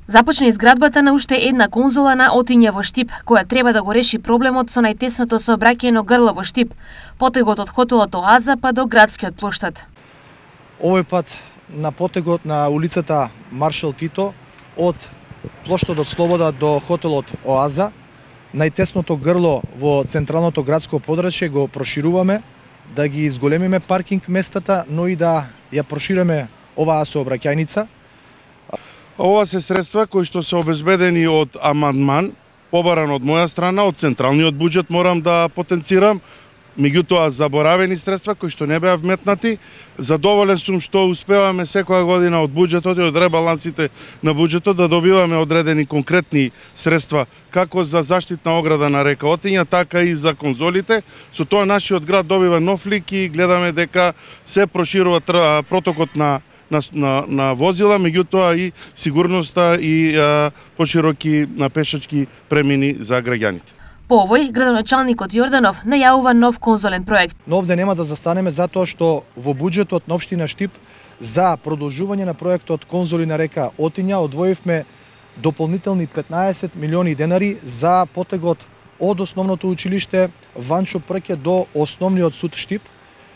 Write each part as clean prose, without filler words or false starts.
Започна изградбата на уште една конзола на Отиња во Штип, која треба да го реши проблемот со најтесното сообраќајно грло во Штип, потегот од хотелот Оаза па до градскиот плоштад. Овој пат на потегот на улицата Маршал Тито од плоштадот Слобода до хотелот Оаза, најтесното грло во централното градско подрачје го прошируваме, да ги изголемиме паркинг местата, но и да ја прошириме оваа сообраќајница. Ова се средства кои што се обезбедени од амандман, побаран од моја страна, од централниот буџет морам да потенцирам, меѓутоа заборавени средства кои што не беа вметнати. Задоволен сум што успеваме секоја година од буџетот и од ребалансите на буџетот да добиваме одредени конкретни средства како за заштитна ограда на река Отиња, така и за конзолите. Со тоа нашиот град добива нов лик и гледаме дека се проширува протокот на возила, меѓутоа и сигурноста и пошироки пешачки премини за граѓаните. По овој, градоначалникот Јорданов најавува нов конзолен проект. Но овде нема да застанеме затоа што во буџетот на општина Штип за продолжување на проектот конзоли на река Отиња одвоивме дополнителни 15 милиони денари за потегот од основното училиште Ванчо Прке до основниот суд Штип,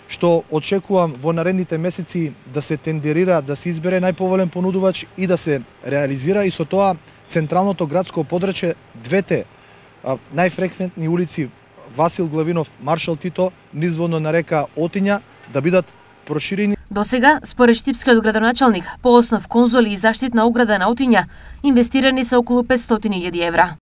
што очекувам во наредните месеци да се тендерира, да се избере најповолен понудувач и да се реализира, и со тоа централното градско подрачје, двете најфреквентни улици Васил Главинов, Маршал Тито, низводно на река Отиња да бидат проширени. Досега, според штипскиот градоначалник, по основ конзоли и заштитна ограда на Отиња, инвестирани се околу 500.000 евра.